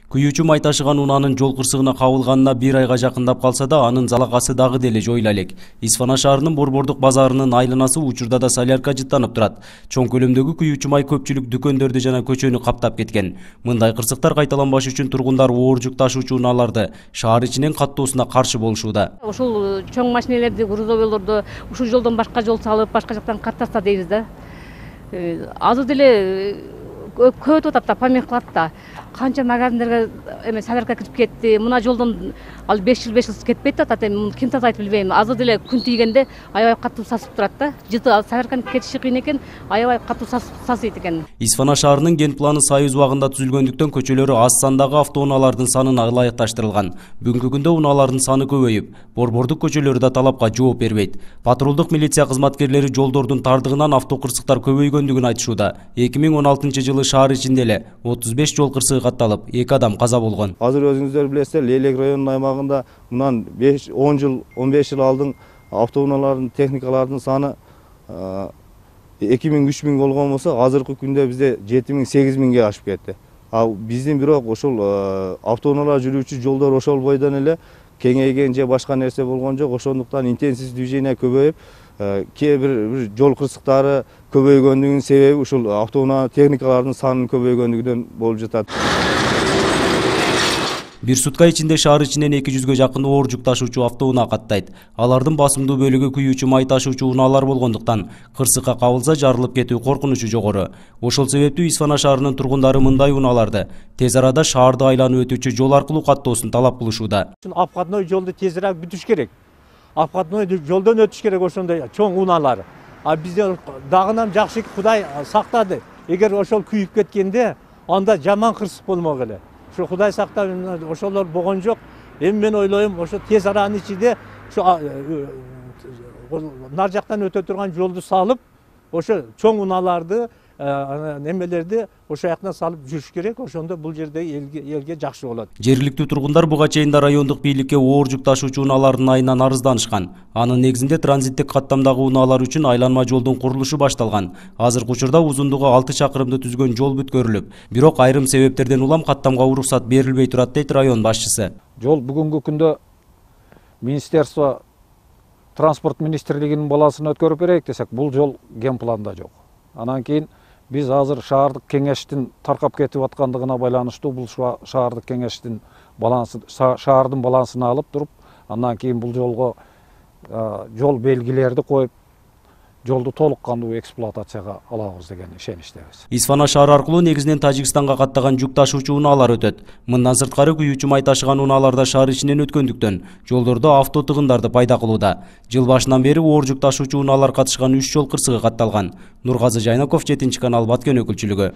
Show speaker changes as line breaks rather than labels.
Күйүүчү май ташыган унаанын жол кырсыгына кабылганына 1 айга жакындап калса да, анын залакасы дагы деле жойула элек. Исфана шаарынын Борбордук базарынын айланасы учурда да солярка жыттанып турат. Чоң көлөмдөгү күйүүчү май көпчүлүк дүкөндөрдү жана көчөнү каптап кеткен. Мындай кырсыктар кайталанбаш үчүн тургундар оор жүк ташуучу унааларды шаар ичинен каттоосуна каршы болушууда.
Ушул чоң машинелерди, грузовыйларды ушул жолдон башка жол салып, башка жактан каттаса дейбиз да. Азыр деле көбөтүп атат да, помех кылат да. Канча магазиндерге солярка кирип кетти. Мына жолдон ал 5 жыл кетпейт атат. Ким таза айтып билбейм. Азыр деле күн тийгенде аябай катуу сасып турат да. Жыты солярканын кетиши кыйын экен, аябай катуу сасыйт экен.
Исфана шаарынын ген планы Союз убагында түзүлгөндүктөн көчөлөрү аз сандагы автоунаалардын санына ылайыкташтырылган. Бүгүнкү күндө унаалардын саны көбөйүп, борбордук көчөлөрү да талапка жооп бербейт. Патрулдук милиция кызматкерлери жолдордун тардыгынан автокырсыктар көбөйгөндүгүн айтышууда. 2016-жылы шаар ичинде эле 35 жол кырсыгы катталып, 2 адам каза болгон.
Азыр өзүңүздөр билесиздер, Лейлек районунун аймагында мындан 10 жыл, 15 жыл алдын автоунаалардын, техникалардын саны 2000-3000 болгон болсо, азыркы күндө бизде 7000-8000ге ашып кетти. Биздин бирок ошол автоунаалар жүрүүчү жолдор ошол бойдон эле кеңейген же башка нерсе болгон жок. Ошондуктан интенсив движение көбөйүп, кээ бир жол кырсыктары көбөйгөндүгүнүн себеби ушул автоунаа техникалардын санынын көбөйгөндүгүнөн болуп жатат.
Бир сутка ичинде шаар ичинен 200ге жакын оор жүк ташуучу автоунаа каттайт. Алардын басымдуу бөлүгү күйүүчү май ташуучу унаалар болгондуктан кырсыкка кабылса жарылып кетүү коркунучу жогору. Ошол себептүү Исфана шаарынын тургундары мындай унааларды тез арада шаарды айланып өтүүчү жол аркылуу каттоосун талап кылышууда.
Обходной жолду тезирээк бүтүш керек. Обходной жолдон өтүш керек ошондой чоң унаалар. Бизде дагынан жакшы Кудай сактады. Эгер ошол күйүп кеткенде, анда жаман кырсык болмок эле. Ошо Кудай сактап, ошолор болгон жок. Эми мен ойлойм, ошо тез аранын ичинде ошо нар жактан өтө турган жолду салып, ошо чоң унааларды, немелерди ошо жактан салып жүрүш керек. Ошондо бул жерде элге жакшы болот.
Жергиликтүү тургундар буга чейин да райондук бийликке оор жүк ташуучу унаалардын айынан арызданышкан. Анын негизинде транзиттик каттамдагы унаалар үчүн айланма жолдун курулушу башталган. Азыркы учурда узундугу 6 чакырымды түзгөн жол бүткөрүлүп, бирок айрым себептерден улам каттамга уруксат берилбей турат дейт район башчысы.
Жол бүгүнкү күндө министерство транспорт министрлигинин балансына өткөрүп берейик десек, бул жол ген планда жок. Анан кийин биз азыр шаардык кеңештин таркап кетип аткандыгына байланыштуу бул шаардык кеңештин шаардын балансына алып туруп, андан кийин бул жолго жол белгилерди коюп, жолду толук кандуу эксплуатацияга алабыз деген ишеничтебиз.
Исфана шаар аркылуу негизинен Тажикстанга каттаган жүк ташуучу унаалар өтөт. Мындан сырткары күйүүчү май ташыган унааларда шаар ичинен өткөндүктөн жолдордо авто тыгындарды пайда кылууда. Жыл башынан бери оор жүк ташуучу унаалар катышкан 3 жол кырсыгы катталган. Нургазы Жайнаков, 7 канал, Баткен өкүлчүлүгү.